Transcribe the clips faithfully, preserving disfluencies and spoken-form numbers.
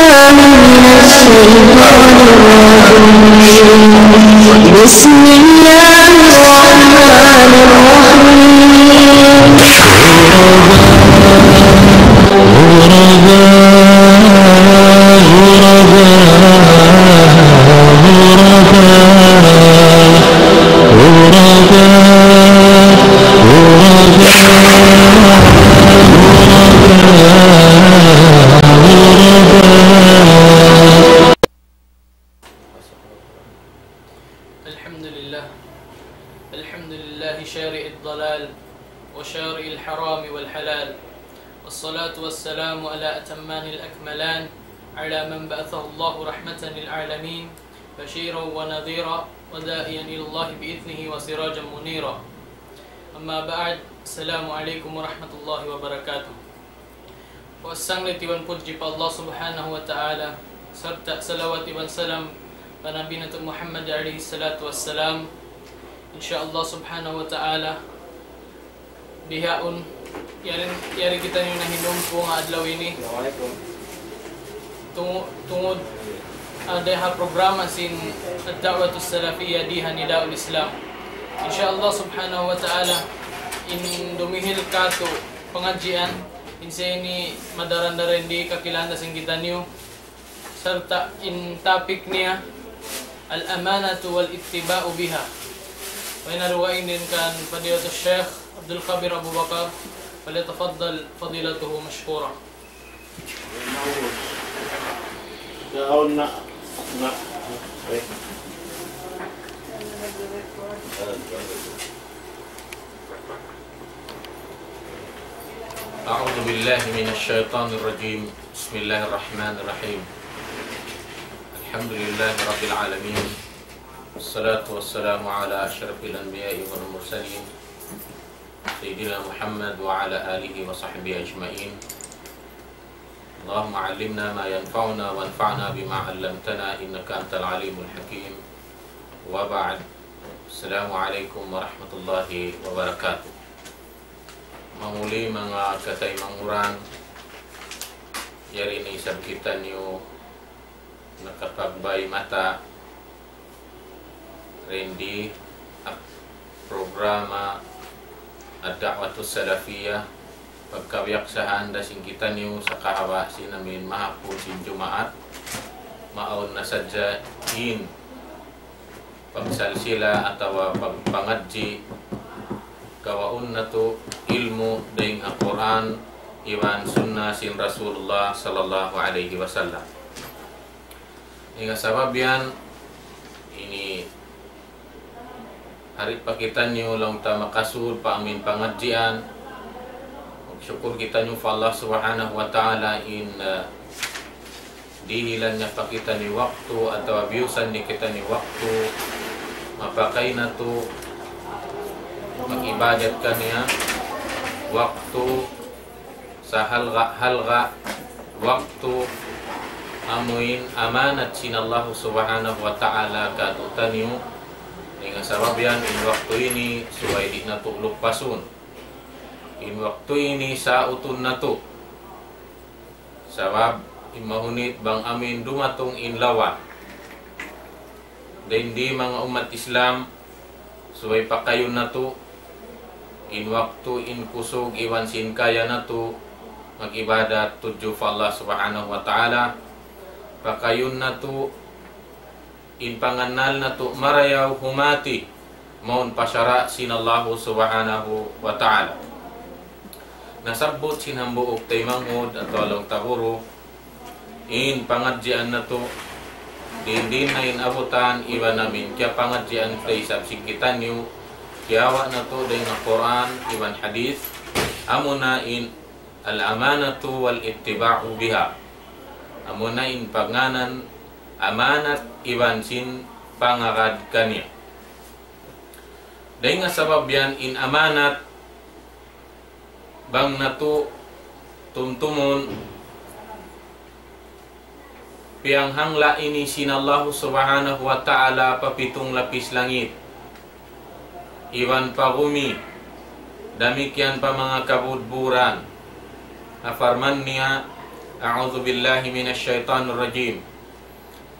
من الشيطان الرجيم. بسم الله الرحمن الرحيم. الحمد لله. الحمد لله شارع الضلال وشارع الحرام والحلال، والصلاة والسلام على أتمان الأكملان على من بعثه الله رحمة للعالمين بشيرا ونذيرا وداعيا إلى الله بإذنه وسراجا منيرا. أما بعد، السلام عليكم ورحمة الله وبركاته. Puas sanglit iban pudji pa Allah Subhanahu wa Ta'ala, sarta' salawat iban salam pa Nabi natu' Muhammad alayhi salatu wassalam. Insya Allah Subhanahu wa Ta'ala, bihaun, yari, yari kitaniyu nahinumpu ha adlaw ini. Assalamualaikum. Tungu-, tungud, ah, dayng ha programa sin Ad-Da'watus Salafiyah dii ha Nidaul Islam. Insya Allah Subhanahu wa Ta'ala, in dumihil katu' pangadjian, in sa ini madaran-daran di kakilahan sin kitaniyu, sarta' in topic niya, الأمانة والاعتبار بها. Wa in aruwa inin kan Fadilatul Sheikh Abdul Kabir Abu Bakar, فليتفضل فضيلته مشكورا. أعوذ بالله من الشيطان الرجيم. بسم الله الرحمن الرحيم. الحمد لله رب العالمين. والصلاة والسلام على أشرف الأنبياء والمرسلين، سيدنا محمد وعلى آله وصحبه أجمعين. اللهم علمنا ما ينفعنا وانفعنا بما علمتنا إنك أنت العليم الحكيم. وبعد. السلام عليكم ورحمة الله وبركاته. Manguli manga kataymanghuran, yari na isab kitaniyu nakapagbay mata dayn di ha programa Ad-Da'watus Salafiyah, pagkabiyaksahan da sin kitaniyu sa kahaba' sin amin mahapun sin Jumaat, maawn na sadja in pagsalsila atawa pagpangadji', kawaun natu' ilmu' dayn ha Qur'an iban Sunnah sin Rasulullah sallallahu alayhi wasallam. Hangkan sabab yan, ini hari pa kitaniyu laung ta makasud pa amin pangadjian. Magsukul kitaniyu pa Allah Subhanahu wa Ta'ala in, uh, dihilan niya pa kitaniyu waktu atawa biyusan niya kitaniyu waktu mapakay natu' mag-ibadat kaniya, waktu sahalga'-halga' waktu amuin amanat sin Allah Subhanahu wa Ta'ala kātu'niyu. Hangkan sabab yan in waktu ini subay di' natu' lupasun. In waktu ini sautun natu'. Sabab in mahunit bang amuin dumatung in lawa. Dayn di manga ummat Islam, subay pakayun natu' in waktu, in kusug iban sin kaya natu' mag-ibadat tudju pa Allah Subhanahu wa Ta'ala. Pakayun natu' in pangannal natu' marayaw humati mawn pa sara' sin Allah Subhanahu wa Ta'ala. Nasabbut sin hambuuk taymanghud atawa laung ta guru, in pangadjian natu', diin-diin na in abutan iban amin kiyapangadjian ta isab sin kitaniyu, kiyawa' natu' dayn ha Qur'an iban hadith, amuna in الأمانة والاعتبار بها. Amuna in pagngānan amanat iban sin pangagad kaniya. Dayn ha sabab yan in amanat bang natu' tumtumun, piyanghangla' ini sin Allahu Subhanahu wa Ta'ala pa pitung lapis langit, iban pa gumi, damikkiyan pa manga kabudburan. Na parman niya, أعوذ بالله من الشيطان الرجيم.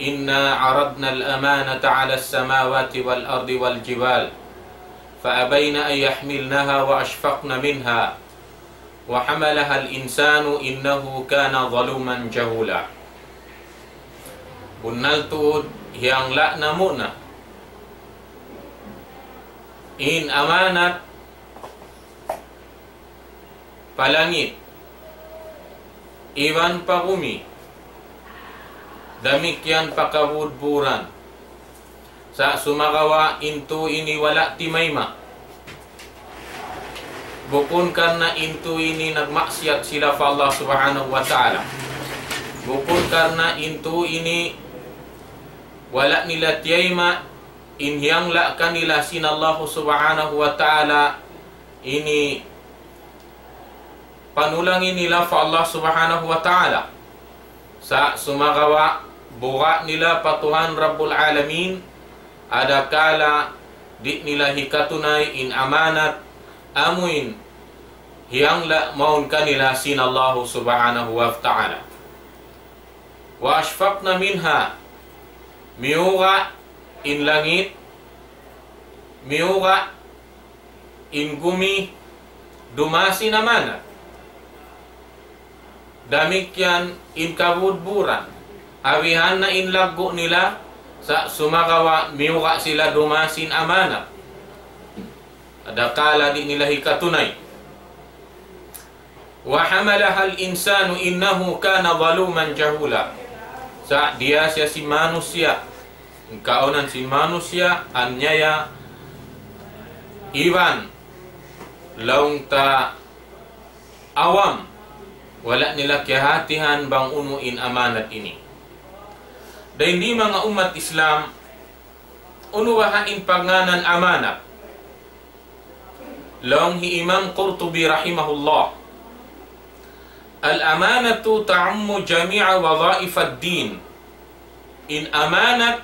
إنا عرضنا الأمانة على السماوات والأرض والجبال فأبين أن يحملنها وأشفقن منها وحملها الإنسان إنه كان ظلوما جهولا. Bunnal tuud, hiyangla' namu' na in amanat pa langit, iban pa bumi, damikkiyan pa kabudburan. Sa' sumagawa' in tū ini wala' timayma'. Bukun karna' in tū ini nagmaksiyat sila pa Allah Subhanahu wa Ta'ala. Bukun karna' in tū ini wala' nila tiyayma' in hiyangla' kanila sin Allah Subhanahu wa Ta'ala ini panulangi nila pa Allah Subhanahu wa Ta'ala. Sa' sumagawa' buga' nila pa Tuhan Rabbul Alamin, adakala di' nila hikatunay in amanat amuin hiyangla' mawn kanila sin Allah Subhanahu wa Ta'ala. وأشفقن منها, miyuga' in langit, miyuga' in gumi, dumā sin amanat. Damikkiyan in kabudburan, awihan na in laggu' nila, sa' sumagawa' miyuga' sila dumā sin amanat. Adakala di' nila hikatunay. وحملها الإنسان إنه كان ظلوما جهولا. Sa' diyā siya sin manusiya', in kaunan sin manusiya', anyaya, iban laung ta awam, wala' nila kiyahatihan bang unu in amanat ini. Dayn di manga ummat Islam, unu baha' in pagngānan amanat? Laung hi Imam Qurtubi rahimahullah, الأمانة تعم جميع وظائف الدين. In amanat,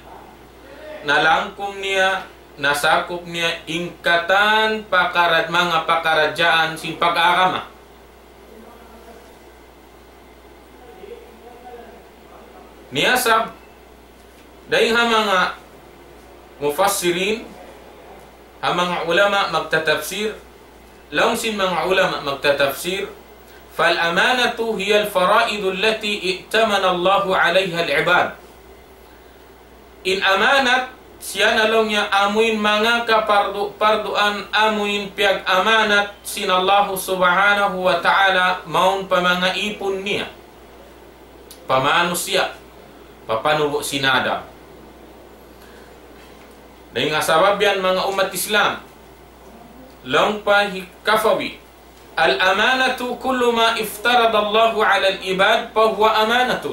nalangkum niya, nasakup niya in katan pakarad-, manga pakaradjaan sin pag-agama. Niya sab, dayn ha manga mufassirin, ha manga ulama magtatafsir, laung sin manga ulama magtatafsir, فالأمانة هي الفرائض التي ائتمن الله عليها العباد. In amanat, siya na laung niya amuin manga kapardu-parduan amuin piyag-amanat sin Allahu Subhanahu wa Ta'ala mawn pa manga ipun niya. Pa manusiya', pa panubu' sin Adam. Dayn ha sabab yan manga ummat Islam, laung pa hi Kafawi, الأمانة كل ما افترض الله على العباد فهو أمانة.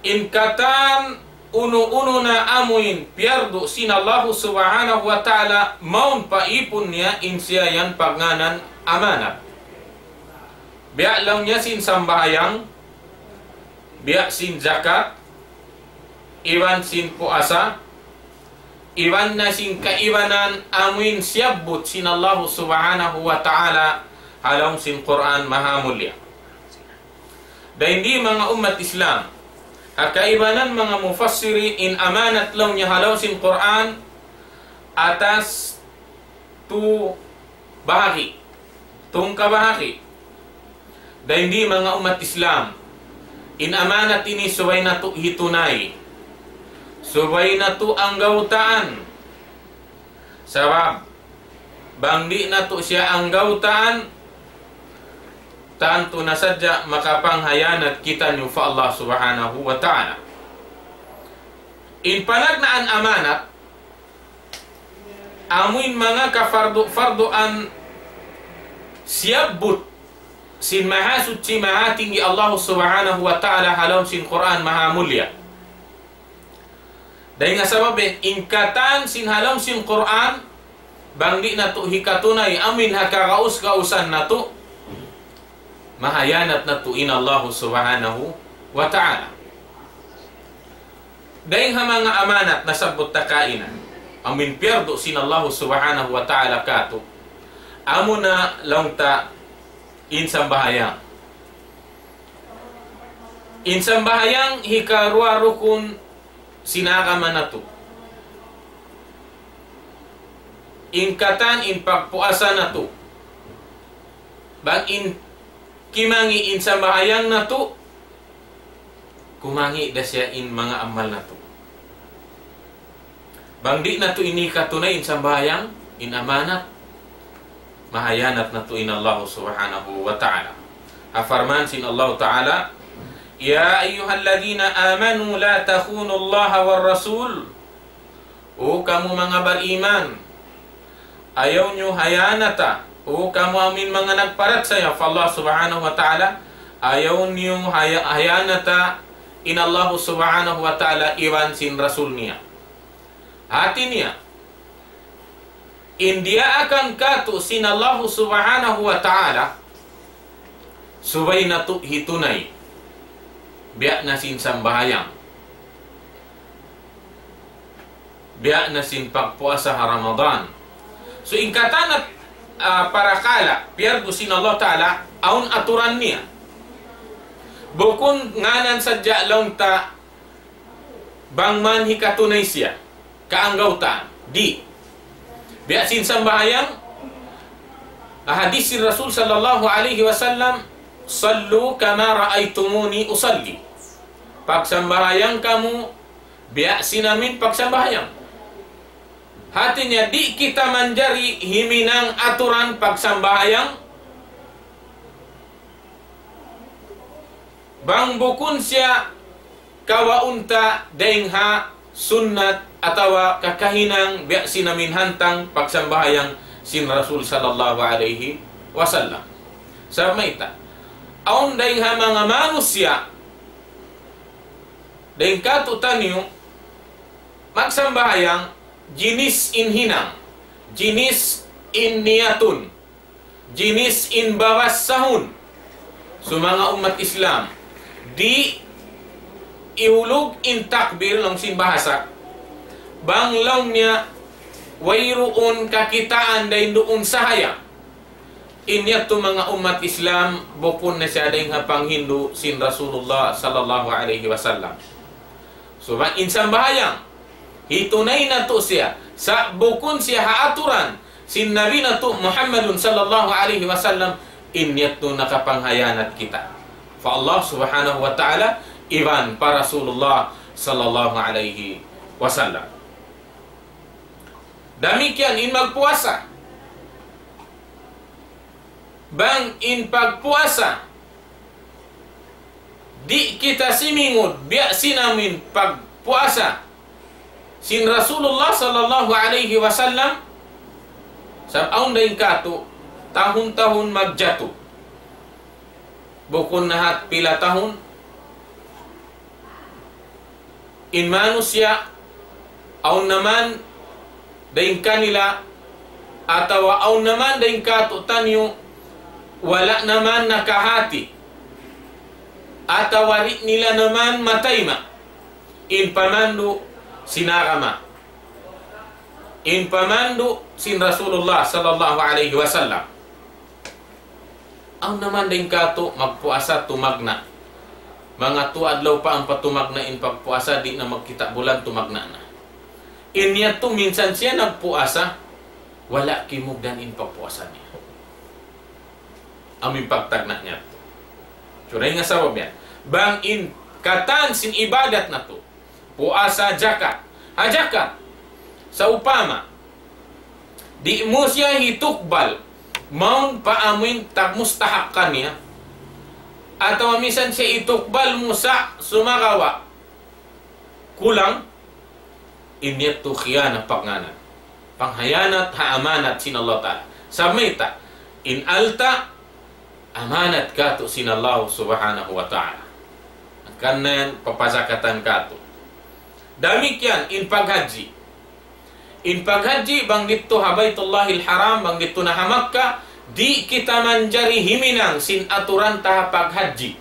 In katan unu-unu na amuin piyardu sin Allahu Subhanahu wa Ta'ala mawn pa ipun niya, in siya yan pagngānan amanat. Biya' laung niya sin sambahayang, biya' sin zakat, iban sin puasa, iban na sin kaibanan amuin siyabbut sin Allahu Subhanahu wa Ta'ala ha lawm sin Qur'an Mahamulliya. Dayn di manga ummat Islam, ha kaibanan manga mufassiri in amanat laung niya ha lawm sin Qur'an atas tu bahagi, tungka bahagi. Dayn di manga ummat Islam, in amanat ini subay natu' hitunay, subay natu' anggawtaan. Sabab, bang di' natu' siya anggawtaan, tantu na sadja makapanghayanat kitaniyu pa Allah Subhanahu wa Ta'ala. In panagnaan amanat, amuin manga kafardu-farduan siyabbut sin Mahasuchi Mahatinggi Allah Subhanahu wa Ta'ala ha lawm sin Qur'an Mahamulliya. Dayn ha sabab in katan sin ha lawm sin Qur'an, bang di' natu' hikatunay amuin ha kagaus-gausan natu', mahayanat natu' in Allah Subhanahu wa Ta'ala. Dayn ha manga amanat nasabbut ta kaina, amuin piyardu sin Allah Subhanahu wa Ta'ala kātu', amuna laung ta in sambahayang. In sambahayang hikaruwa rukun sin agama natu'. In katan in pagpuasa natu'. Bang in kimangi' in sambahayang natu', kumangi' da siya in manga amal natu'. Bang di' natu' ini katunay in sambahayang, in amanat, mahiyanat natu' in Allah Subhanahu wa Ta'ala. Ha parman sin Allah Ta'ala, يا أيها الذين آمنوا لا تخونوا الله والرسول. O kamu manga bariman, ayaw niyu hiyanata. O kamu amuin manga nagparachaya pa Allah Subhanahu wa Ta'ala, ayaw niyu haya-, hiyanata in Allah Subhanahu wa Ta'ala iban sin Rasul niya. Hati niya, in diyaakan katu' sin Allah Subhanahu wa Ta'ala, subay natu' hitunay. Biya' na sin sambahayang. Biya' na sin pagpuasa ha Ramadan. So, in katan, ah, parakala', piyardu sin Allah Ta'ala, awn aturan niya. Bukun ngānan sadja laung ta bang man hikatunay siya, kaanggawtaan. Di'. Biya' sin sambahayang, hadis sin Rasul sallallahu alayhi wasallam, صلوا كما رأيتموني أصلي. Pagsambahayang kamu, biya' sin amin pagsambahayang. Hati niya, di' kita manjari himinang aturan pagsambahayang, bang bukun siya kawaun ta dayn ha sunnat atawa kakahinang biya' sin amin hantang pagsambahayang sin Rasul sallallahu alayhi wasallam. Sabab mayta', awn dayn ha manga manusiya', dayn kātu'niyu, magsambahayang, jinis in hinang, jinis in niyatun, jinis in babassahun. So manga ummat Islam, di' ihulug in takbir laung sin bahasa, bang laung niya wayruun kakitaan dayn duun sahaya. In yadtu manga ummat Islam, bukun na siya dayn ha panghindu' sin Rasulullah sallallahu alayhi wasallam. So, bang in sambahayang, hitunay natu' siya, sa' bukun siya ha aturan sin Nabi natu' Muhammadun sallallahu alayhi wasallam, in yadtu nakapanghiyanat kita pa Allah Subhanahu wa Ta'ala, iban pa Rasulullah sallallahu alayhi wasallam. Damikkiyan in magpuasa. Bang in pagpuasa, di' kita simingud, biya' sin amin pagpuasa sin Rasulullah sallallahu alayhi wasallam, sabab awn dayn kātu', tahun-tahun magjatu. Bukun na hat pila tahun, in manusiya', awn na man dayn kanila, atawa awn na man dayn kātu'niyu, wala' na man nakahati, atawa di' nila na man matayma' in pamandu' sin agama, in pamandu' sin Rasulullah sallallahu alayhi wasallam. Awn na man dayn kātu' magpuasa tumagna'. Manga tū adlaw pa ampa tumagna' in pagpuasa, di' na magkita' bulan tumagna' na. In yadtu minsan siya nagpuasa, wala' kimugdan in pagpuasa niya. Amu in pagtagna' niya. Subay nga sabab yan. Bang in katan sin ibadat natu', puasa, jakat. Ha jakat, sawpama, di' mu siya hitukbal, mawn pa amuin tagmustahak kaniya, atawa minsan siya hitukbal mu sa' sumagawa' kulang, in yadtu khiyanat pagngānan. Panghiyanat ha amanat sin Allah Ta'ala. Sabab mayta', in alta' amanat kātu' sin Allah Subhanahu wa Ta'ala. Hangkan na yan, papazakatan kātu'. Damikkiyan in paghajji. In paghajji, bang didtu ha Baytullahil Haram, bang didtu na ha Makkah, di' kita manjari himinang sin aturan ta ha paghajji.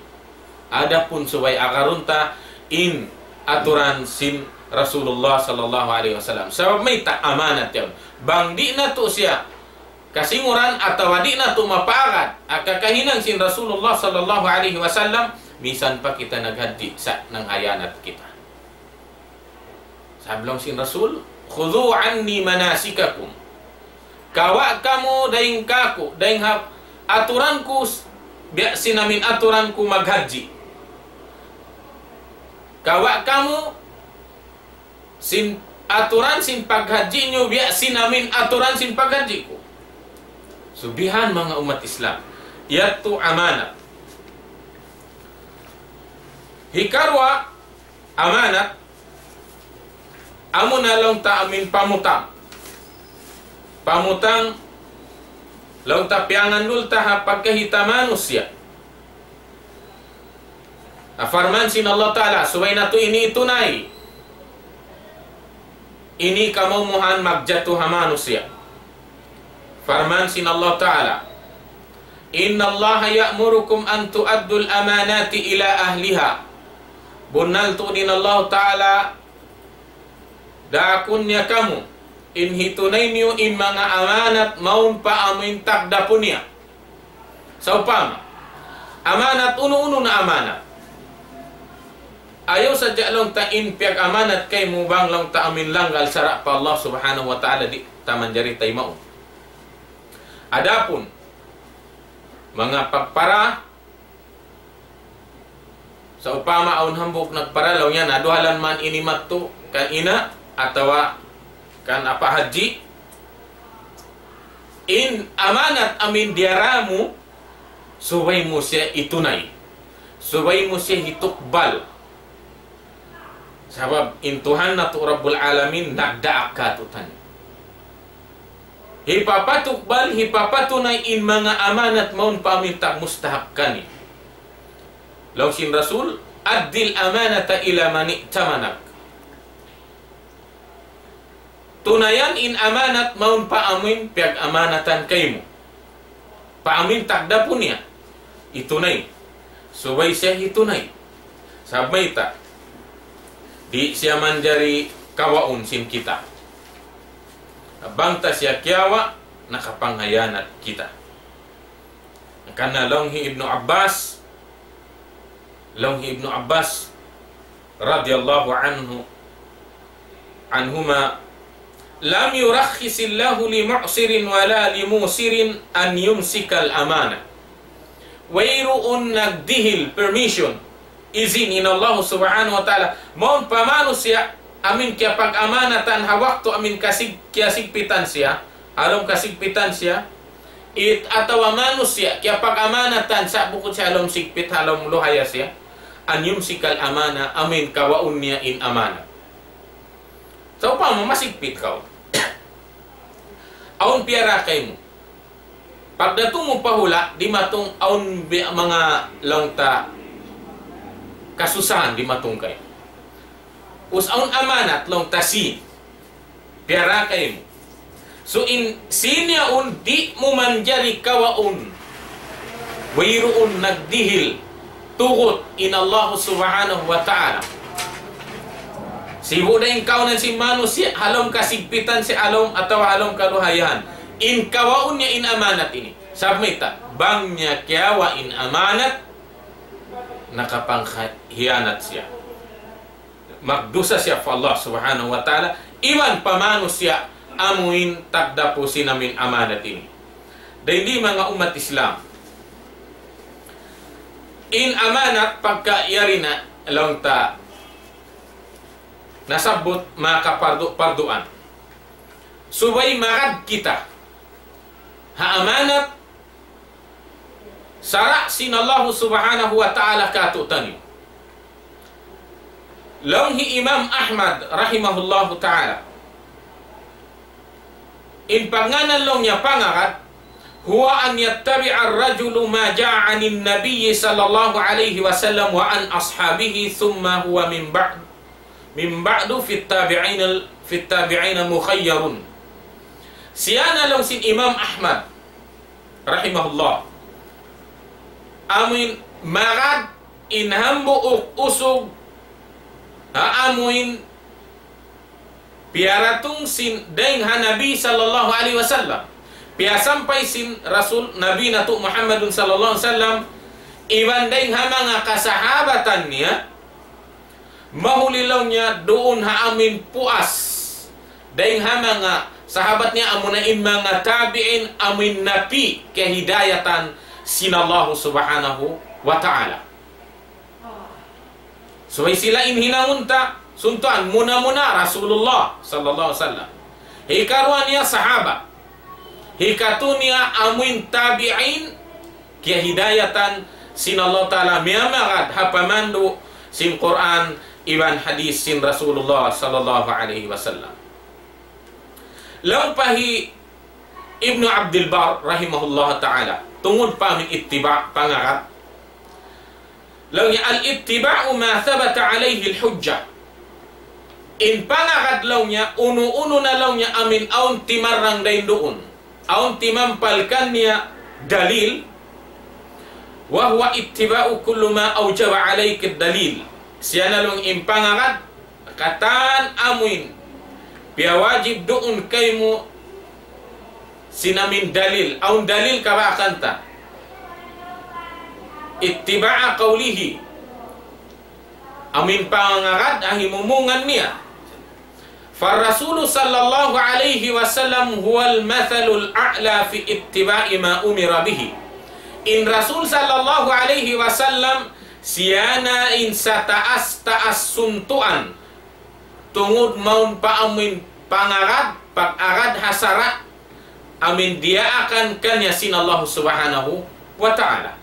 Adapun subay agarun ta in aturan sin Rasulullah sallallahu alayhi wasallam. Sabab mayta', amanat yan. Bang di' natu' siya kasinguran atawa di' natu' mapaagad ha kakahinang sin Rasulullah sallallahu alayhi wasallam, misan pa kita naghajji sa' nanghiyanat kita. Sabab laung sin Rasul, "خذوا عني مناسككم." Kawa' kamu dayn kāku', dayn ha aturan ku, s-, biya' sin amin aturan ku maghajji. Kawa' kamu sin aturan sin paghajji niyu biya' sin amin aturan sin paghajji ku. Subihan manga ummat Islam. Yadtu amanat. Hikaruwa, amanat, amuna laung ta amin pamutang. Pamutang, laung ta piyangannul ta ha pagkahi ta manusiya'. Na parman sin Allah Ta'ala, subay natu' ini itunay. Ini kamaumuhan magjatu ha manusiya'. Parman sin Allah Ta'ala, إن الله يأمركم أن تؤدوا الأمانات إلى أهلها. Bunnal tuud in Allah Ta'ala, daakun niya kamu, in hitunay niyu in manga amanat mawn pa amuin tagdapu niya. Sawpama, amanat, unu-unu na amanat. Ayaw sadja laung ta in piyag-amanat kaymu bang laung ta amin langgal sara' pa Allah Subhanahu wa Ta'ala, di' ta manjari taymaun. Adapun manga pagpara, sawpama awn hambuuk nagpara, laung niya, "Na, duhalan man ini madtu kan ina' atawa kan apa' hajji." In amanat amin diyara mu, subay mu siya itunay. Subay mu siya hitukbal. Sabab in Tuhan natu' Rabbul Alamin nagdaak kātu'niyu. Hipapatukbal, hipapatunay in manga amanat mawn pa amin tagmustahak kaniya. Laung sin Rasul, أد الأمانة إلى من ائتمنك. Tunayan in amanat mawn pa amuin piyag-amanatan kaymu. Pa amuin tagdapu niya. Itunay. Subay siya hitunay. Sabab mayta', di' siya manjari kawaun sin kita. Bang ta siya kiyawa', nakapanghiyanat kita. Karna' laung hi Ibnu Abbas, laung hi Ibnu Abbas radiyallahu anhu, anhuma, لم يرخص الله لمعسر ولا لموسر أن يمسك الأمانة. Wayruun nagdihil permission, izin in Allah Subhanahu wa Ta'ala mawn pa manusiya' amin kiyapag-amanatan ha waktu amin kasig-, kiyasigpitan siya, ha lawm kasigpitan siya, it-, atawa manusiya' kiyapag-amanatan sa' bukun siya ha lawm sigpit, ha lawm luhaya siya, أن يمسك الأمانة, amin kawaun niya in amanat. Sawpama masigpit kaw. Awn piyara kaymu. Pagdatung mu pa hula', dimatung awn bi-, manga laung ta kasusahan dimatung kaymu. Us awn amanat laung ta sin. Piyara kaymu. So in sin yaun di' mu manjari kawaun. Wayruun nagdihil tugut in Allah Subhanahu wa Ta'ala. Sibu' da in kaawnan sin manusiya', ha lawm kasigpitan siya, ha lawm atawa ha lawm kaluhayan. In kawaun niya in amanat ini. Sabab mayta', bang niya kiyawa' in amanat, nakapanghiyanat siya. Magdusa siya pa Allah Subhanahu wa Ta'ala, iban pa manusiya' amuin tagdapu sin amin amanat ini. Dayn di manga ummat Islam. In amanat pagka yari na laung ta nasabbut makapardu-parduan. Subay magad kita ha amanat sara' sin Allahu Subhanahu wa Ta'ala kātu'niyu. Laung hi Imam Ahmad rahimahullahu ta'ala. In pagngānan laung niya pangagad, هو أن يتبع الرجل ما جاء عن النبي صلى الله عليه وسلم وعن أصحابه ثم هو من بعد، من بعد في التابعين، في التابعين مخير. Siya na laung sin Imam Ahmad rahimahullah. Amuin magad in hambuuk usug, ha, amuin piyaratung sin dayn ha Nabi sallallahu alayhi wasallam. Piyasampay sin Rasul Nabi natu' Muhammadun sallallahu alayhi wasallam, Iban dayng ha manga kasahabatan niya, mahuli laung niya duun ha amuin puas. Dayng ha manga sahabat niya amuna in manga tabi'in amuin napi' kahidayatan sin Allahu Subhanahu wa Ta'ala. Subay sila in hinangun ta, suntuan muna-muna Rasulullah sallallahu alaihi wasallam. Hikaruwa niya sahabat. Hikatu niya amuin tabi'in, kiyahidayatan sin Allah Ta'ala miyamagad ha pamandu' sin Qur'an iban hadith sin Rasulullah sallallahu alaihi wasallam. Laung pa hi Ibnu Abdul Bar rahimahullah ta'ala, tungud pa amuin ittiba', pangagad. Laung niya, الاتباع ما ثبت عليه الحجة. In pangagad laung niya, unu-unu na laung niya amuin awn timarrang dayn duun, awn timampal kaniya dalil, وهو اتباع كل ما أوجب عليك الدليل. Siya na laung in pangagad, katan amuin piyawajib duun kaymu sin amuin dalil, awn dalil kabaakan ta. اتباع قوله. Amuin pangagad ha himumungan niya. فالرسول صلى الله عليه وسلم هو المثل الأعلى في اتباع ما أمر به. In Rasul sallallahu alayhi wasallam, siya na in sataas-taas suntuan tungud mawn pa amuin pangagad, pag-agad ha sara', amuin diyaakan kaniya sin Allah Subhanahu wa Ta'ala.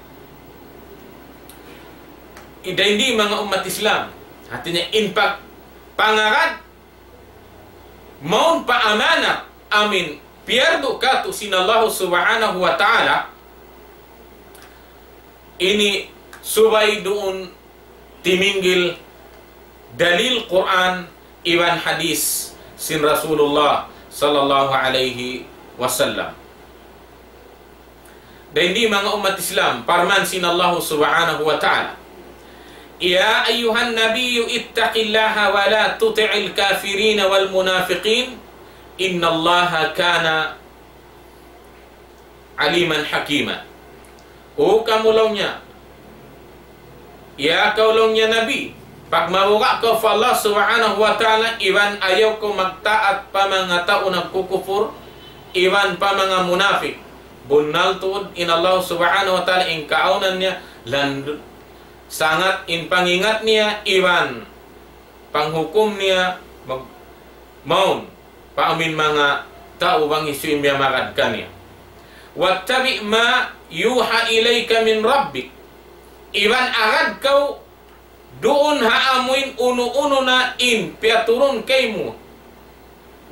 Ida ini manga ummat Islam. Hati niya in pag-, pangagad, mawn pa amanat amuin piyardu katu' sin Allah Subhanahu wa Ta'ala, ini subay duun timinggil dalil Qur'an iban hadith sin Rasulullah sallallahu alayhi wasallam. Dayn di manga ummat Islam, parman sin Allah Subhanahu wa Ta'ala, يا أيها النبي اتق الله ولا تطع الكافرين والمنافقين إن الله كان عليما حكيما. O kamu laung niya, ya kaw laung niya Nabi, pagmabuga' kaw pa Allah Subhanahu wa Ta'ala, iban ayaw kaw magtaat pa manga tau nagkukupur, iban pa manga munafik. Bunnal tuud in Allah Subhanahu wa Ta'ala in kaawnan niya, landu-, sangat in pangingat niya, iban panghukum niya, mag-, mawn pa amuin manga tau bang hisiyu in miyamagad kaniya. واتبع ما يوحى إليك من ربك. Iban agad kaw duun ha amuin unu-unu na in piyaturun kaymu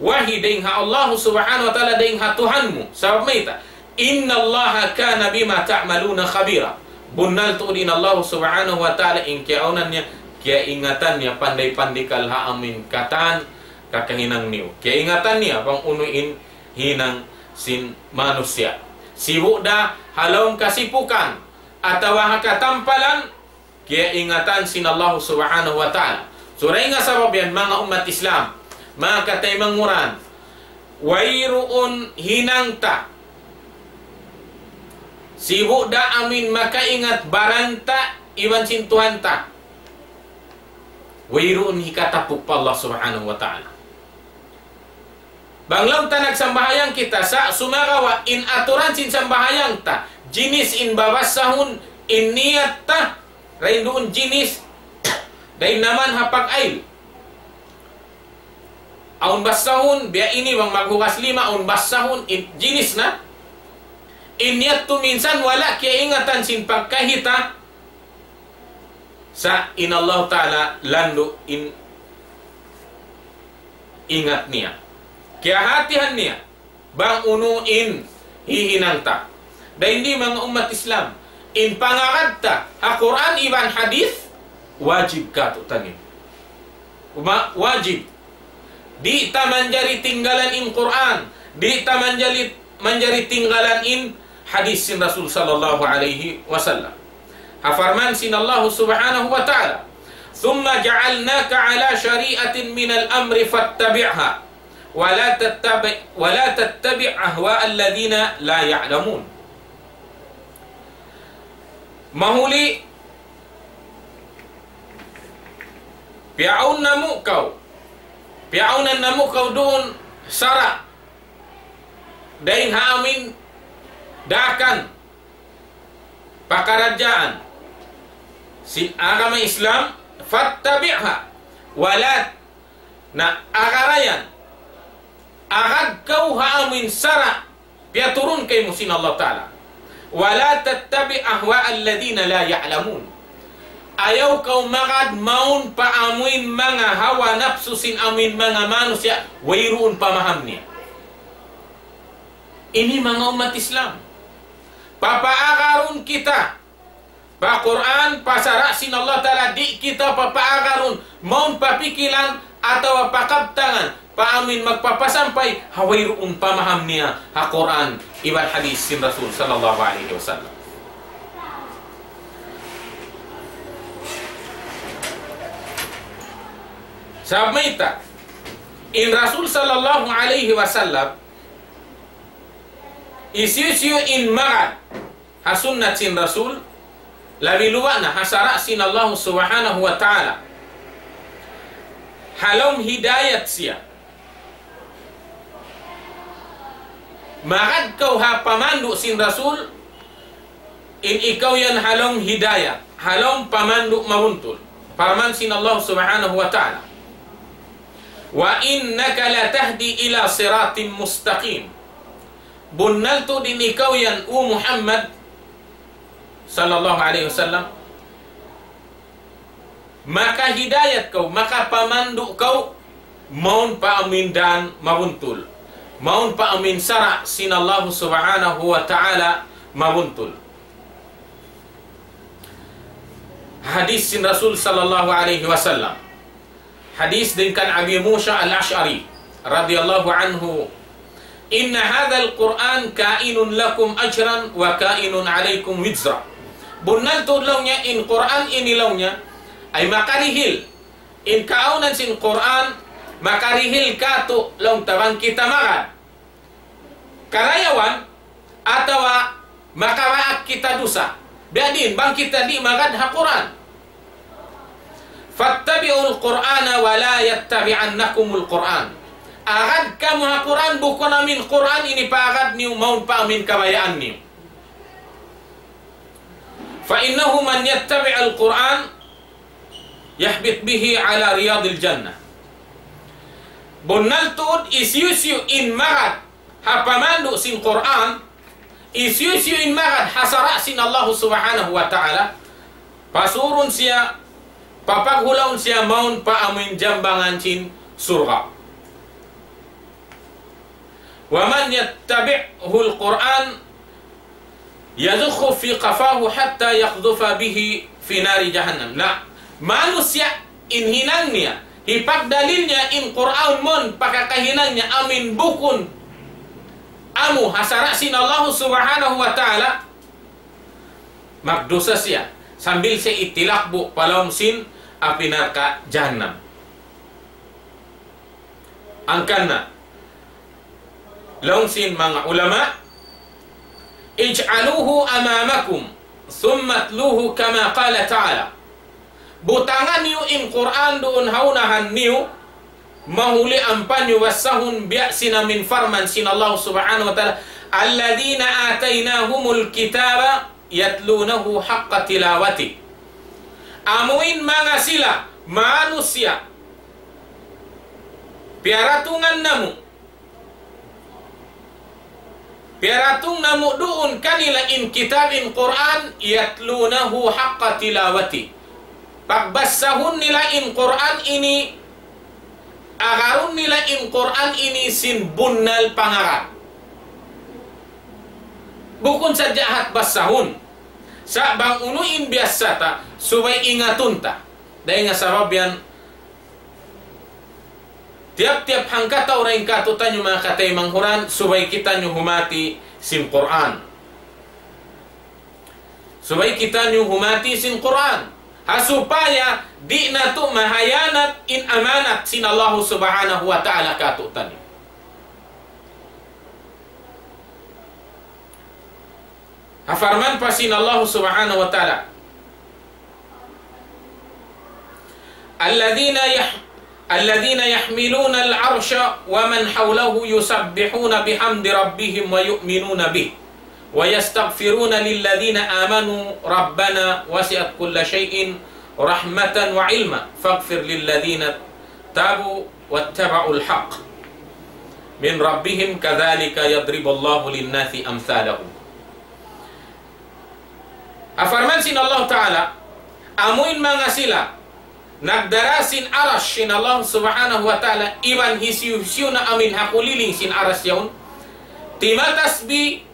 wahi dayn ha Allah Subhanahu wa Ta'ala, dayn ha Tuhan mu. Sabab mayta', إن الله كان بما تعملون خبيرا. Bunnal tuud in Allah Subhanahu wa Ta'ala in kiyaawnan niya, kiyaingatan niya, panday-pandikal ha amuin katan kakahinang niyu. Kiyaingatan niya bang unu in hinang sin manusiya'. Sibu' da ha lawm kasipukan atawa ha katampalan, kiyaingatan sin Allah Subhanahu wa Ta'ala. So, dayn ha sabab yan, manga ummat Islam, manga kataymanghuran, wayruun hinang ta, sibu' da amuin makaingat baran ta iban sin Tuhan ta. Wayruun hikatapuk pa Allah Subhanahu wa Ta'ala. Bang laung ta nagsambahayang kita, sa' sumagawa' in aturan sin sambahayang ta, jinis in babassahun, in niyat ta, dayn duun jinis, dayn naman ha pag-ayl. Awn bassahun, biya' ini bang maghugas lima, awn bassahun, in, jinis na. In niyat tu minsan wala' kiyaingatan sin pagkahi ta, sa' in Allah Ta'ala landu' in ingat niya. Kiyahatihan niya bang unu in hihinang ta. Dayn di manga ummat Islam, in pangagad ta ha Qur'an iban hadith, wajib katu'taniyu. Uma-, wajib. Di' ta manjari tinggalan in Qur'an. Di' ta manjari, manjari tinggalan in hadith sin Rasul sallallahu alayhi wasallam. Ha parman sin Allah Subhanahu wa Ta'ala, ثم جعلناك على شريعة من الأمر فاتبعها ولا تتبع، ولا تتبع أهواء الذين لا يعلمون. Mahuli, piyauna mu kaw, piyaunan namu' kaw duun sara' dayn ha amin daakan pakaradjaan sin agama Islam, فاتبعها ولا, na agarayan, agad kaw ha amin sara' piyaturun kaymu sin Allah Ta'ala. ولا تتبع أهواء الذين لا يعلمون. Ayaw kaw magad mawn pa amuin manga hawa napsu sin amuin manga manusiya' wayruun pamaham niya. Ini manga ummat Islam. Papaagarun kita pa Qur'an, pa sara' sin Allah Ta'ala, di' kita papaagarun mawn pa pikilan atawa pa kabtangan pa amuin magpapasampay ha wayruun pamaham niya ha Qur'an iban hadith sin Rasul sallallahu alayhi wasallam. Sabab mayta', in Rasul sallallahu alayhi wasallam, hisiyu-siyu in magad ha sunnat sin Rasul, labi luba' na ha sara' sin Allah Subhanahu wa Ta'ala, ha lawm hidayat siya. Magad kaw ha pamandu' sin Rasul, in ikaw yan ha lawm hidayat, ha lawm pamandu' mabuntul. Parman sin Allah Subhanahu wa Ta'ala, وإنك لتهدي إلى صراط مستقيم. Bunnal tuud in ikaw yan, O Muhammad sallallahu alayhi wasallam, makahidayat kaw, makapamandu' kaw, mawn pa amuin dan mabuntul, mawn pa amuin sara' sin Allah Subhanahu wa Ta'ala mabuntul. Hadith sin Rasul sallallahu alayhi wasallam. Hadith dayn kan Abi Musa al-Ash'ari radiyallahu anhu, إن هذا القرآن كائن لكم أجرا وكائن عليكم وزرا. Bunnal tuud laung niya in Qur'an ini laung niya ay makarihil in kaawnan sin Qur'an, makarihil kātu' laung ta bang kita magad karayawan atawa makawaak kita dusa. Biya' diin bang kita di' magad ha Qur'an. فاتبعوا القرآن ولا يتبعنكم القرآن. Agad kamu ha Qur'an, bukun amuin Qur'an ini paagad niyu mawn pa amuin kabayaan niyu. فإنه من يتبع القرآن يهبط به على رياض الجنة. Bunnal tuud hisiyu-siyu in magad ha pamandu' sin Qur'an, hisiyu-siyu in magad ha sara' sin Allah Subhanahu wa Ta'ala, pasurun siya, papaghulaun siya mawn pa amuin jambangan sin surga'. ومن يتبعه القرآن يضخه في قفاه حتى يقذف به في نار جهنم. Na, manusiya' in hinang niya, hipagdalil niya in Qur'an mawn pa kakahinang niya amuin bukun amu ha sara' sin Allah Subhanahu wa Ta'ala, magdusa siya, sambil siya itilakbu' pa lawm sin api narka' jahannam. Hangkan na, laung sin manga ulama, اجعلوه أمامكم ثم اتلوه كما قال تعالى. Butangan niyu in Qur'an duun ha unahan niyu, mahuli ampa niyu basahun biya' sin amuin parman sin Allah Subhanahu wa Ta'ala, الذين آتيناهم الكتاب يتلونه حق تلاوته. Amuin manga sila manusiya' piyaratungan namu', piyaratung namu' duun kanila in kitab in Qur'an, يتلونه حق تلاوته. Pagbasahun nila in Qur'an ini, agarun nila in Qur'an ini sin bunnal pangaga. Bukun sadja hat basahun. Sa' bang unu in biyassa ta, subay ingatun ta. Dayn ha sabab yan, tiyap-tiyap hangkatau dayn kātu'niyu manga kataymanghuran, subay kitaniyu humati sin Qur'an. Subay kitaniyu humati sin Qur'an. Ha supaya di' natu' mahiyanat in amanat sin Allahu Subhanahu wa Ta'ala kātu'niyu. Ha parman pa sin Allah Subhanahu wa Ta'ala, الذين يح-، الذين يحملون العرش ومن حوله يسبحون بحمد ربهم ويؤمنون به ويستغفرون للذين آمنوا ربنا وسعت كل شيء رحمة وعلما فاغفر للذين تابوا واتبعوا الحق من ربهم كذلك يضرب الله للناس أمثالهم. Ha parman sin Allah Ta'ala, amuin manga sila nagdara sin Arash sin Allah Subhanahu wa Ta'ala, iban hisiyu-siyu na amuin ha kuliling sin Arash yaun, timatasbih,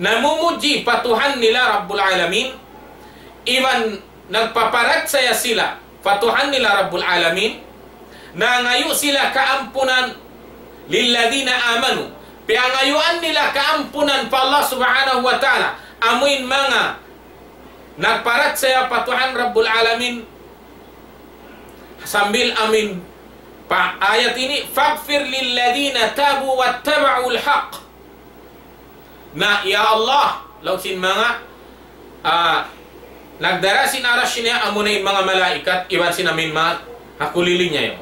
namumudji pa Tuhan nila Rabbul Alamin, iban nagpaparachaya sila pa Tuhan nila Rabbul Alamin, nangayu' sila kaampunan, للذين آمنوا, piyangayuan nila kaampunan pa Allah Subhanahu wa Ta'ala, amuin manga nagparachaya pa Tuhan Rabbul Alamin, sambil amuin pa ayat ini, فاغفر للذين تابوا واتبعوا الحق. Na, ya Allah, laung sin manga, ah, nagdara sin Arash niya, amuna in manga malaikat, iban sin amuin manga ha kuliling niya yaun.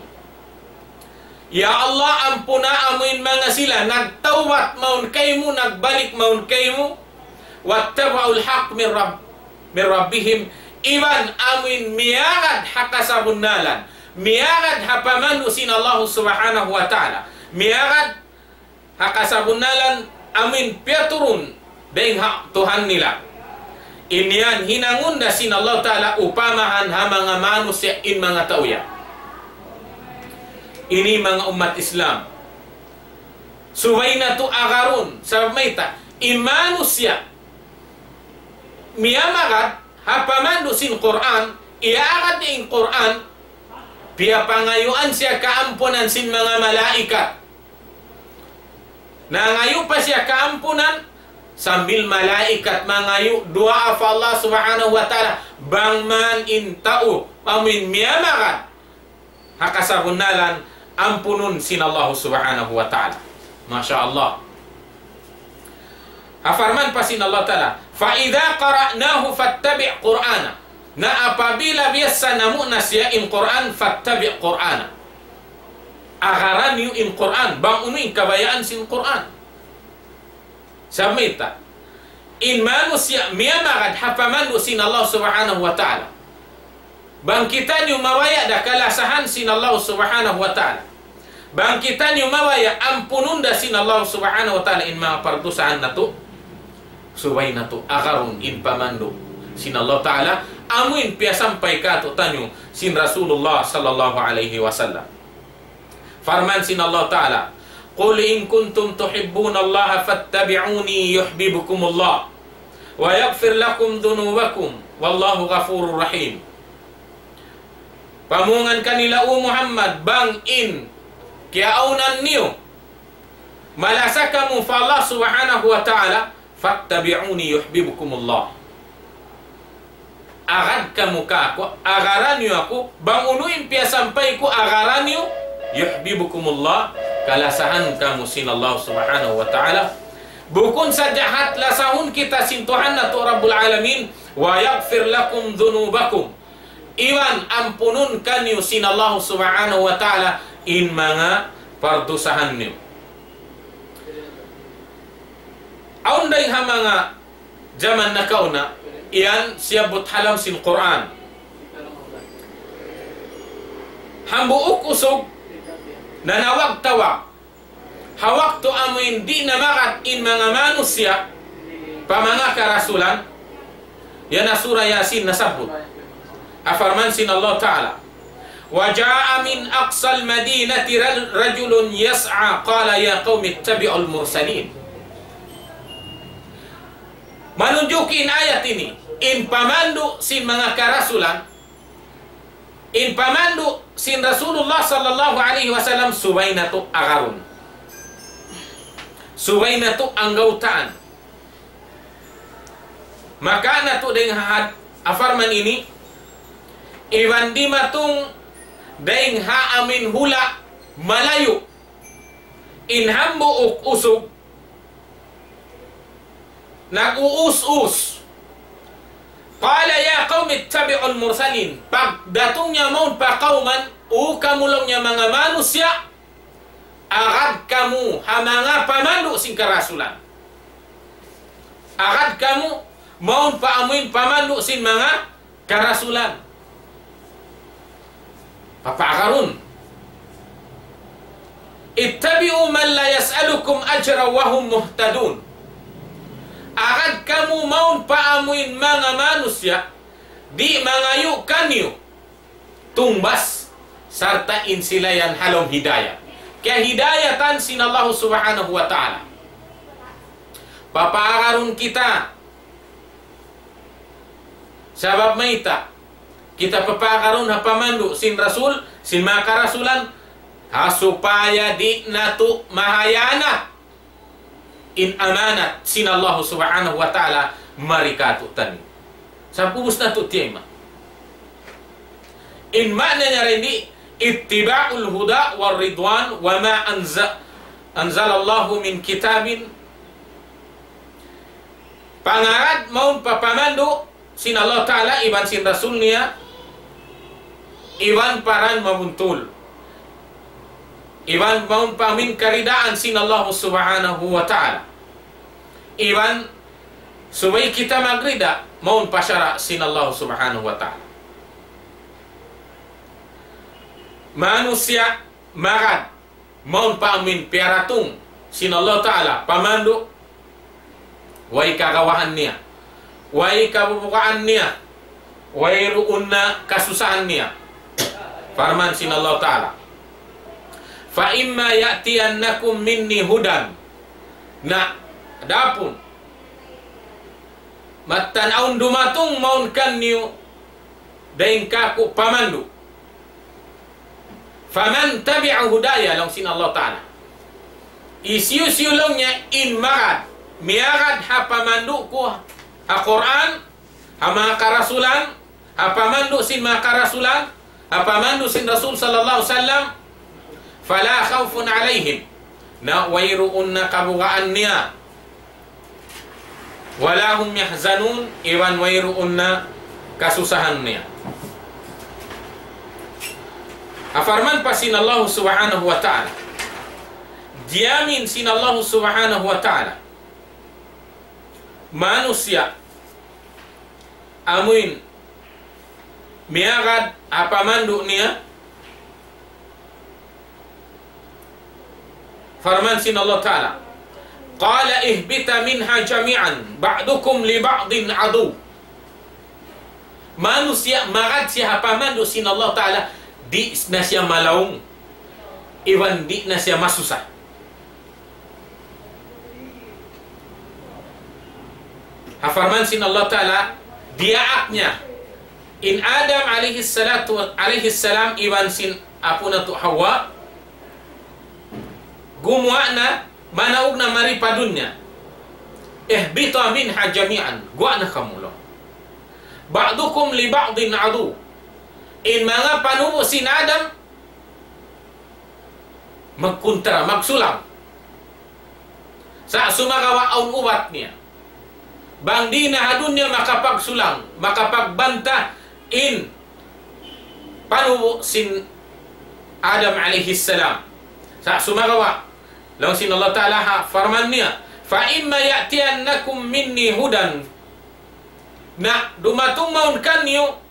Ya Allah, ampuna amuin manga sila nagtawbat mawn kaymu, nagbalik mawn kaymu, واتبعوا الحق من رب-، من ربهم, iban amuin miyagad ha kasabunnalan, miyagad ha pamandu' sin Allah Subhanahu wa Ta'ala, miyagad ha kasabunnalan amuin piyaturun dayn ha Tuhan nila. In yan hinangun da sin Allah Ta'ala upamahan ha manga manusiya' in manga tau yan. Ini manga ummat Islam, subay natu' agarun, sabab mayta', in manusiya' miyamagad ha pamandu' sin Qur'an, iyaagad niya in Qur'an, piyapangayuan siya kaampunan sin manga malaikat. Nangayu' pa siya kaampunan, sambil malaikat mangayu' duwaa pa Allah Subhanahu wa Ta'ala, bang man in tau amuin miyamagad ha kasabunnalan, ampunun sin Allah Subhanahu wa Ta'ala. Masha Allah. Ha parman pa sin Allah Ta'ala, فإذا قرأناه فاتبع قرآنه. Na apabila biyassa namu' na siya in Qur'an, فاتبع قرآنه. Agaran niyu in Qur'an, bang unu in kabayaan sin Qur'an. Sabab mayta', in manusiya' miyamagad ha pamandu' sin Allah Subhanahu wa Ta'ala, bang kitaniyu mabaya' da kalasahan sin Allah Subhanahu wa Ta'ala, bang kitaniyu mabaya' ampunun da sin Allah Subhanahu wa Ta'ala in manga pardusahan natu', subay natu' agarun in pamandu' sin Allah Ta'ala, amuin piyasampay kātu'niyu sin Rasulullah sallallahu alayhi wasallam. Parman sin Allah Ta'ala, قل إن كنتم تحبون الله فاتبعوني يحببكم الله ويغفر لكم ذنوبكم والله غفور رحيم. Pamungan kanila, O Muhammad, bang in kiyaawnan niyu malasa kamu pa Allah Subhanahu wa Ta'ala, فاتبعوني يحببكم الله. Agad kamu kāku', agaran niyu aku, bang unu in piyasampay ku, agaran niyu, يحببكم الله, kalasahan kamu sin Allah Subhanahu wa Ta'ala. Bukun sadja hat lasahun kita sin Tuhan natu' Rabbul Alamin, ويغفر لكم ذنوبكم. Iban ampunun kaniyu sin Allah Subhanahu wa Ta'ala in manga pardusahan niyu. Awn dayn ha manga jaman nakauna, yan siyabbut ha lawm sin Qur'an. Hambuuk usug nanawag-tawag. Ha waktu amuin di' na magad in manga manusiya' pa manga karasulan, yan ha Surah Yasin nasabbut. Ha parman sin Allah Ta'ala, وجاء من أقصى المدينة رجل يسعى قال يا قوم اتبعوا المرسلين. Manunjuki in ayat ini, in pamandu' sin manga karasulan, in pamandu' sin Rasulullah sallallahu alayhi wasallam subay natu' agarun. Subay natu' anggawtaan. Maka natu' dayn ha had-, ha parman ini, iban dimatung dayn ha amuin hula' malayu', in hambuuk usug, nag-uus-us. قال يا قوم اتبعوا المرسلين. Pagdatung niya mawn pa kawman, "O kamu," laung niya, "manga manusiya', agad kamu ha manga pamandu' sin karasulan. Agad kamu mawn pa amuin pamandu' sin manga karasulan." Papaagarun. اتبعوا من لا يسألكم أجرا وهم مهتدون. Agad kamu mawn pa amuin manga manusiya', di' mangayu' kaniyu tungbas, sarta' in sila yan ha lawm hidayat. Kiyahidayatan sin Allah Subhanahu wa Ta'ala. Papaagarun kita. Sabab mayta'? Kita papaagarun ha pamandu' sin Rasul, sin manga karasulan, ha supaya di' natu' mahayanat in amanat sin Allah Subhanahu wa Ta'ala mari kātu'niyu. Sabab ubus natu' tiyayma'. In ma'na niya dayn di, اتباع الهدى والرضوان وما أنز-، أنزل الله من كتاب. Pangagad mawn pa pamandu' sin Allah Ta'ala iban sin Rasul niya, iban pa dan mabuntul. Iban mawn pa amuin karidaan sin Allah Subhanahu wa Ta'ala. Iban subay kita magrida mawn pa sara' sin Allah Subhanahu wa Ta'ala. Manusiya' magad mawn pa amuin piyaratung sin Allah Ta'ala pamandu', way kagawahan niya, way kabubugaan niya, wayruun na kasusahan niya. Parman sin Allah Ta'ala, فإما يأتينكم مني هدى. Na, adapun mattan awn dumatung mawn kaniyu dayn kāku' pamandu'. فمن تبع هداي, laung sin Allah Ta'ala. Hisiyu-siyu laung niya in magad, miyagad ha pamandu' ku, ha Qur'an, ha manga karasulan, ha pamandu' sin manga karasulan, ha pamandu' sin Rasul sallallahu alayhi wasallam, فلا خوف عليهم. Na wayruun na kabugaan niya. ولا هم يحزنون, iban wayruun na kasusahan niya. Parman pa sin Allah Subhanahu wa Ta'ala. Diyamin sin Allah Subhanahu wa Ta'ala manusiya' amuin miyagad ha pamandu' niya. Parman sin Allah Ta'ala, قال اهبطا منها جميعا بعضكم لبعض عدو. Manusiya' magad siya ha pamandu' sin Allah Ta'ala, di' na siya malaung, iban di' na siya masusa. Ha parman sin Allah Ta'ala, diyaak niya in Adam alayhi salatu, alayhi salam, iban sin apu' natu' Hawa, gumuwa' na, manaug na mari pa dunya. اهبطا منها جميعا, guwa' na kamu laung. بعضكم لبعض عدو. In manga panubu' sin Adam, magkuntra, magsulang. Sa' sumagawa' awn ubat niya. Bang di' na ha dunya makapagsulang, makapagbanta in panubu' sin Adam alayhi salam. Sa' sumagawa', laung sin Allah Ta'ala ha parman niya, فإما يأتينكم مني هدى. Na dumatung mawn kaniyu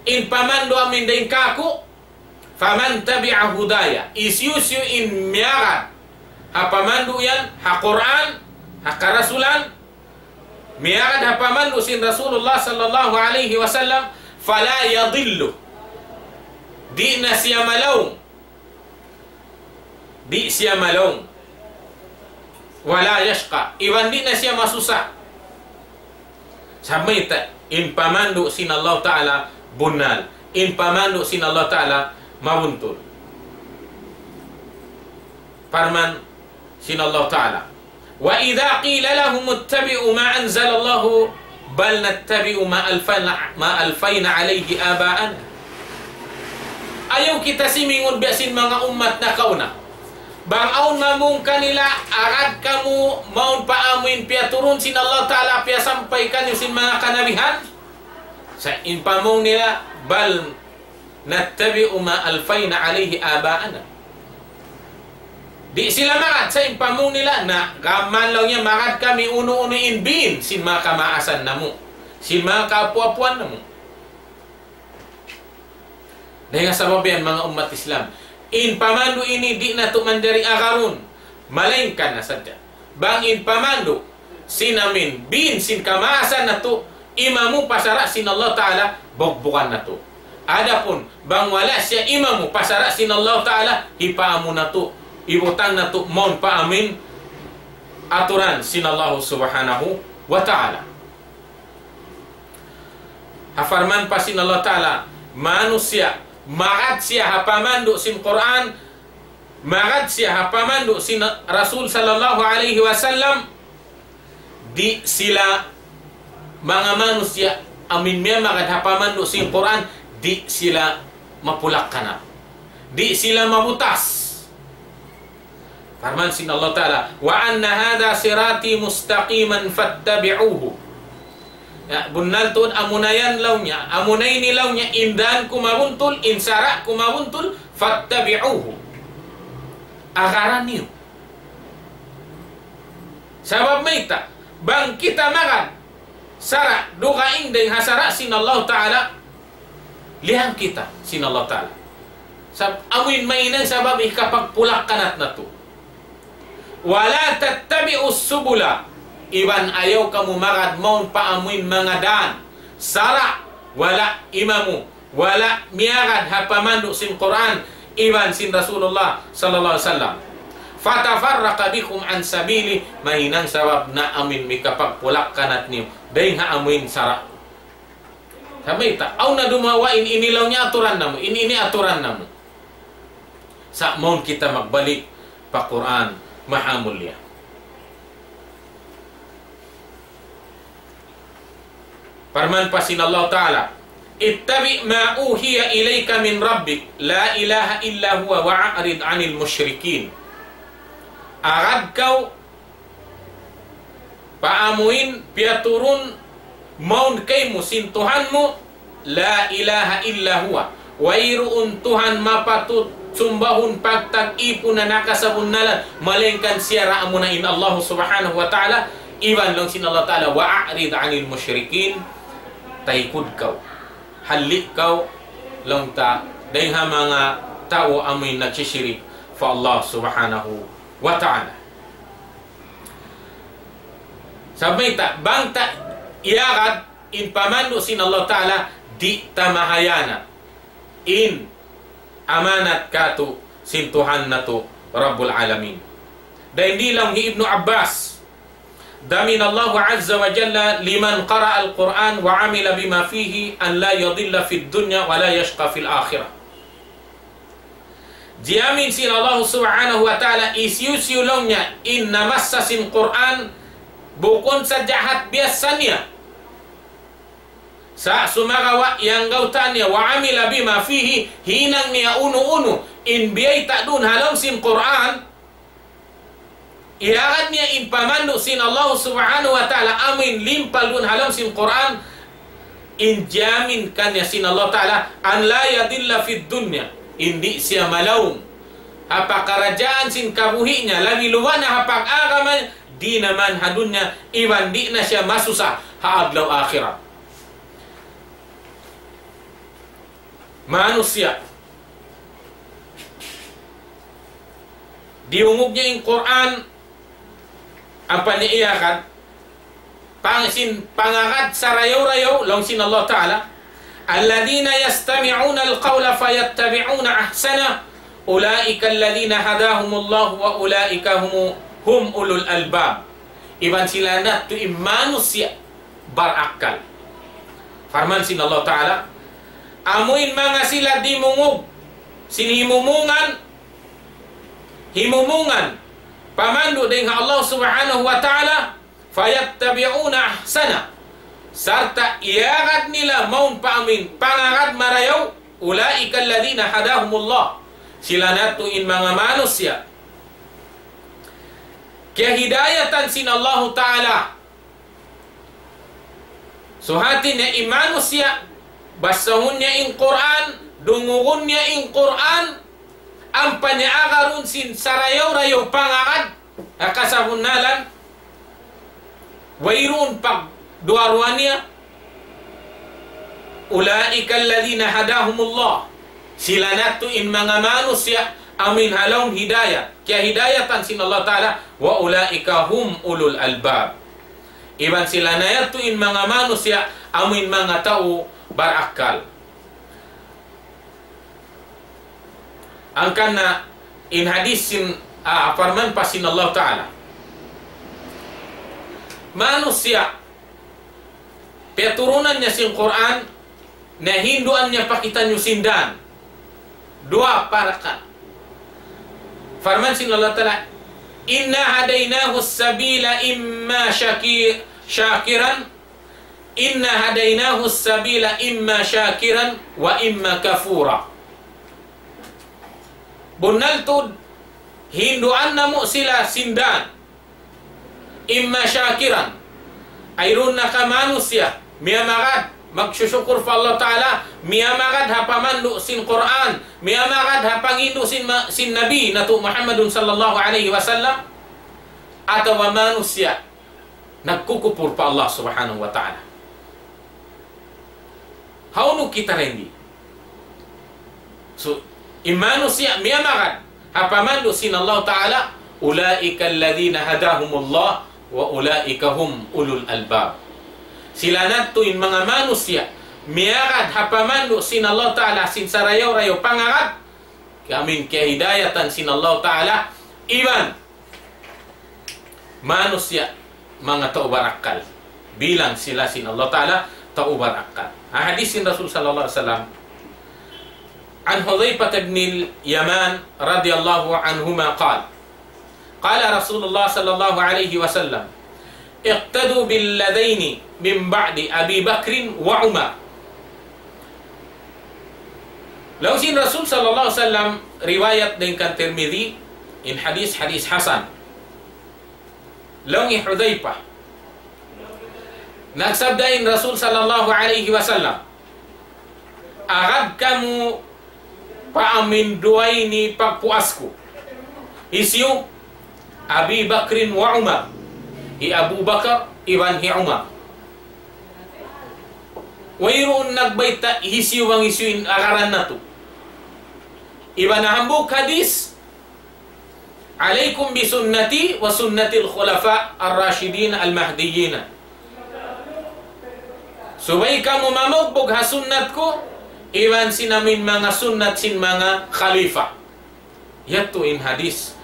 in pamandu' amuin dayn kāku', فمن تبع هداي, hisiyu-siyu in miyagad ha pamandu' yan, ha Qur'an, ha karasulan, miyagad ha pamandu' sin Rasulullah sallallahu alayhi wasallam, فلا يضل. Di' na siya malaung. Di' siya malaung. ولا يشقى. Iban di' na siya masusa. Sabab mayta', in pamandu' sin Allah Ta'ala bunnal. In pamandu' sin Allah Ta'ala mabuntul. Parman sin Allah Ta'ala, وإذا قيل لهم اتبعوا ما أنزل الله بل نتبع ما ألفينا، ما ألفينا عليه آباءنا. Ayaw kita simingun biya' sin manga ummat nakauna. Bang awn mamung kanila, agad kamu mawn pa amuin piyaturun sin Allah Ta'ala, piyasampay kaniyu sin manga kanabihan? Sa' in pamung nila, بل نتبع ما ألفينا عليه آباءنا. Di' sila magad, sa' in pamung nila, na gam laung niya magad kami unu-unu in biin sin manga kamaasan namu', sin manga kaapu'-apuan namu'. Dayn ha sabab yan, manga ummat Islam, in pamandu' ini di' natu' manjari agarun, malaingkan na sadja bang in pamandu' sin amuin biin sin kamaasan natu' imamu pa sara' sin Allah Ta'ala, bugbugan natu'. Adapun bang wala' siya imamu pa sara' sin Allah Ta'ala, hipaamu natu', ibutang natu' mawn pa amuin aturan sin Allah Subhanahu wa Ta'ala. Ha parman pa sin Allah Ta'ala, manusiya', magad siya ha pamandu' sin Qur'an, magad siya ha pamandu' sin Rasul sallallahu alayhi wasallam, di' sila, manga manusiya' amuin miyamagad ha pamandu' sin Qur'an, di' sila mapulak-kanat, di' sila mabutas. Parman sin Allah Ta'ala, وأن هذا صراطي مستقيما فاتبعوه. Ya, bunnal tuud amuna yan laung niya, amuna ini laung niya, in dan ku mabuntul, in sara' ku mabuntul, فاتبعوه. Agaran niyu. Sabab mayta', bang kita magad sara' dugaing dayn ha sara' sin Allah Ta'ala, liyang kita sin Allah Ta'ala. Sab-, amuin mahinang sabab hikapagpulak-kanat natu'. ولا تتبعوا السبل. Iban ayaw kamu magad mawn pa amuin manga dan, sara', wala' imamu, wala' miyagad ha pamandu' sin Qur'an iban sin Rasulullah sallallahu alayhi wasallam. فتفرق بكم عن سبيله, mahinang sabab na amuin mikapagpulak-kanat niyu dayn ha amuin sara'. Sabab mayta', awn na dumawa in ini laung niya aturan namu', in ini aturan namu'. Sa' mawn kita magbalik pa Qur'an, maha mulia. Parman pa sin Allah Ta'ala, اتبع ما أوحي إليك من ربك لا إله إلا هو وأعرض عن المشركين. Agad kaw pa amuin piyaturun mawn kaymu sin Tuhan mu, لا إله إلا هو. Wayruun Tuhan mapatut sumbahun pagtag-ipunan ha kasabunnalan, malaingkan siya ra amuna in Allah Subhanahu wa Ta'ala, iban laung sin Allah Ta'ala, وأعرض عن المشركين, taykud kaw, halli' kaw, laung ta, dayn ha manga tau amuin nagsisirik pa Allah Subhanahu wa Ta'ala. Sabab mayta', bang ta iyagad in pamandu' sin Allah Ta'ala, di' ta mahayanat in amanat katu' sin Tuhan natu' Rabbul Alamin. Dayn di laung hi Ibnu Abbas, ضمن الله عز وجل لمن قرأ القرآن وعمل بما فيه أن لا يضل في الدنيا ولا يشقى في الآخرة. Jiyamin sin Allah Subhanahu wa Ta'ala, hisiyu-siyu laung niya in namassa sin Qur'an, bukun sadja hat biyassa niya, sa' sumagawa' iyanggautan niya, وعمل بما فيه, hinang niya unu-unu in biyayta' duun ha lawm sin Qur'an, iyagad niya in pamandu' sin Allah Subhanahu wa Ta'ala amuin limpal duun ha lawm sin Qur'an, in jamin kaniya sin Allah Ta'ala, أن لا يضل في الدنيا, in di' siya malawm ha pakaradjaan sin kabuhi' niya, labi luba na ha pag-agama, di' na man ha dunya, iban di' na siya masusa ha adlaw akhirat. Manusiya'. Diyungug niya in Qur'an, ampa niya iyagad, pang-, sin pangagad sarayaw-rayaw, laung sin Allah Ta'ala, الذين يستمعون القول فيتبعون أحسنه أولئك الذين هداهم الله وأولئك هم، هم أولو الألباب. Iban sila na tuud in manusiya' barakkal. Parman sin Allah Ta'ala, amuin manga sila dimungug sin himumungan, himumungan pamandu' dayn ha Allah Subhanahu wa Ta'ala, فيتبعون أحسنه, sarta' iyagad nila mawn pa amuin pangagad marayaw, أولئك الذين هداهم الله, sila na tuud in manga manusiya' kiyahidayatan sin Allahu Ta'ala. So hati niya in manusiya', basahun niya in Qur'an, dungugun niya in Qur'an, ampa niya agarun sin sarayaw-rayaw pangagad, ha kasabunnalan, wayruun pagduwa-ruwa niya, أولئك الذين هداهم الله. Sila na yadtu in manga manusiya' amuin ha lawm hidayat, kiyahidayatan sin Allah Ta'ala, وأولئك هم أولو الألباب. Iban sila na yadtu in manga manusiya' amuin manga tau barakkal. Hangkan na in hadis sin, ah, parman pa sin Allah Ta'ala. Manusiya', piyaturunan niya sin Qur'an, na hinduan niya pa kitaniyu sin dan. Duwa parakat. Parman sin Allah Ta'ala, إنا هديناه السبيل إما شاكي-، شاكرا، إنا هديناه السبيل إما شاكرا وإما كفورا. Bunnal tuud, hinduan namu' sila sin dan. إما شاكرا. Wayruun na ka manusiya', miyamagad, magsusukur pa Allah Ta'ala, miyamagad ha pamandu' sin Qur'an, miyamagad ha panghindu' sin ma-, sin Nabi natu' Muhammadun sallallahu alayhi wasallam, atawa manusiya' nagkukupur pa Allah Subhanahu wa Ta'ala. Hawnu kita dayn di? So, in manusiya' miyamagad ha pamandu' sin Allah Ta'ala, أولئك الذين هداهم الله وأولئك هم أولو الألباب. Sila na yadtu in manga manusiya' miyagad ha pamandu' sin Allah Ta'ala sin sarayaw-rayaw pangagad, amuin kiyahidayatan sin Allah Ta'ala, iban manusiya' manga tau barakkal. Bilang sila sin Allah Ta'ala tau barakkal. Ha hadis sin Rasul sallallahu alayhi wasallam, عن حذيفة بن اليمان رضي الله عنهما قال، قال رسول الله صلى الله عليه وسلم، اقتدوا بالذين من بعدي أبي بكر وعمر. Laung sin Rasul sallallahu alayhi wasallam, riwayat dayn kan Tirmidhi, in hadis, hadis hasan. Laung hi Hudhayfah, nagsabda in Rasul sallallahu alayhi wasallam, agad kamu pa amuin duwa ini pagpuas ku. Hisiyu? أبي بكر وعمر. Hi Abu Bakar iban hi Umar. Wayruun nagbayta' hisiyu bang hisiyu in agaran natu'. Iban ha hambuuk hadis, عليكم بسنتي وسنة الخلفاء الراشدين المهديين. Subay kamu mamugbug ha sunnat ku, iban sin amuin manga sunnat sin manga khalifa. Yadtu in hadis.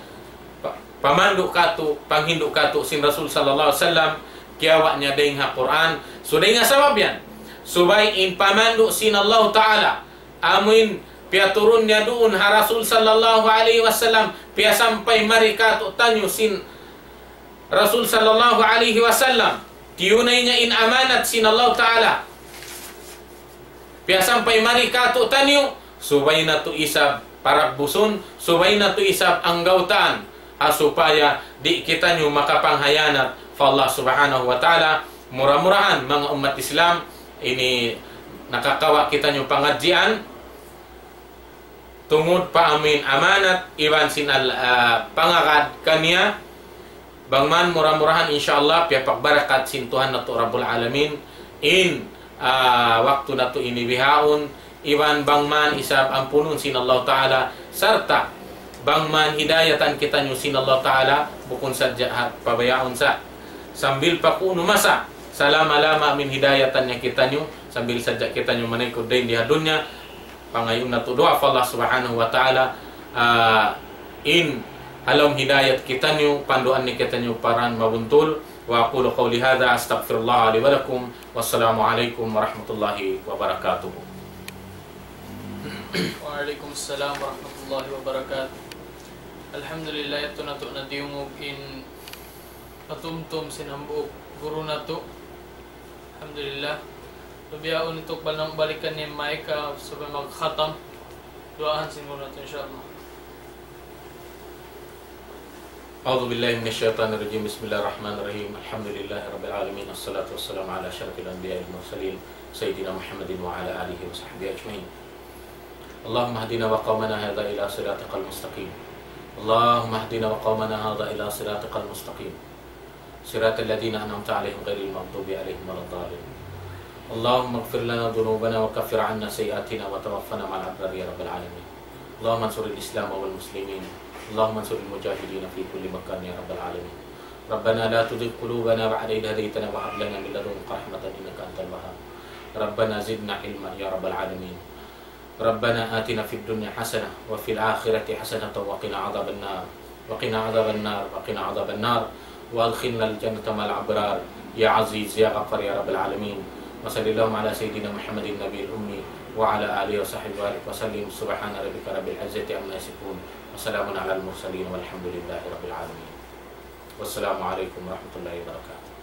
Pa-, pamandu' katu', panghindu' katu' sin Rasul sallallahu alayhi wasallam, kiyawa' niya dayn ha Qur'an. So dayn ha sabab yan, subay in pamandu' sin Allah Ta'ala, amuin piyaturun niya duun ha Rasul sallallahu alayhi wasallam, piyasampay mari katu'taniyu sin Rasul sallallahu alayhi wasallam, tiyunay niya in amanat sin Allah Ta'ala, piyasampay mari katu'taniyu, subay natu' isab paragbusun, subay natu' isab anggawtaan, ha supaya di' kitaniyu makapanghiyanat pa Allah Subhanahu wa Ta'ala. Mura-murahan, manga ummat Islam, ini nakakawa' kitaniyu pangadjian tungud pa amuin amanat iban sin al-, ah, pangagad kaniya, bang man mura-murahan, insya Allah, piyapagbarakat sin Tuhan natu' Rabbul Alamin in, ah, waktu natu' ini bihaun, iban bang man isab ampunun sin Allah Ta'ala, sarta' bang man hidayatan kitaniyu sin Allah Ta'ala, bukun sadja ha pabayaun sa. Sambil pa kunu' masa, salama-lama amuin hidayatan niya kitaniyu, sambil sadja kitaniyu manaykud dayn di ha dunya, pangayuun natu' duwaa pa Allah Subhanahu wa Ta'ala, ah, in ha lawm hidayat kitaniyu, panduan niya kitaniyu pa dan mabuntul. وأقول قولي هذا، أستغفر الله لي ولكم. والسلام عليكم ورحمة الله وبركاته. وعليكم السلام ورحمة الله وبركاته. Alhamdulillah, yadtu natu' na diyungug in patumtum sin hambuuk guru natu'. Alhamdulillah. Bihaun ini, balikan niya in mic, ah, supaya magkhatam. Duwaahan sin guru natu', insya Allah. أعوذ بالله من الشيطان الرجيم. بسم الله الرحمن الرحيم. الحمد لله رب العالمين. الصلاة والسلام على أشرف الأنبياء والمرسلين سيدنا محمد وعلى آله وصحبه أجمعين. اللهم اهدنا وقومنا هذا إلى صراطك المستقيم. اللهم اهدنا وقومنا هذا إلى صراطك المستقيم. صراط الذين أنعمت عليهم غير المغضوب عليهم ولا الضالين. اللهم اغفر لنا ذنوبنا وكفر عنا سيئاتنا وتوفنا مع الأبرار يا رب العالمين. اللهم انصر الإسلام والمسلمين. اللهم انصر المجاهدين في كل مكان يا رب العالمين. ربنا لا تزغ قلوبنا بعد إذ هديتنا وهب لنا من لدنك رحمة إنك أنت الوهاب. ربنا زدنا علما يا رب العالمين. ربنا آتنا في الدنيا حسنة وفي الآخرة حسنة وقنا عذاب النار. وقنا عذاب النار، وقنا عذاب النار، وأدخلنا الجنة مع الأبرار، يا عزيز يا غفار يا رب العالمين. وصل اللهم على سيدنا محمد النبي الأمي وعلى آله وصحبه وبارك وسلم. سبحان ربك رب العزة عما يصفون، وسلام على المرسلين، والحمد لله رب العالمين. والسلام عليكم ورحمة الله وبركاته.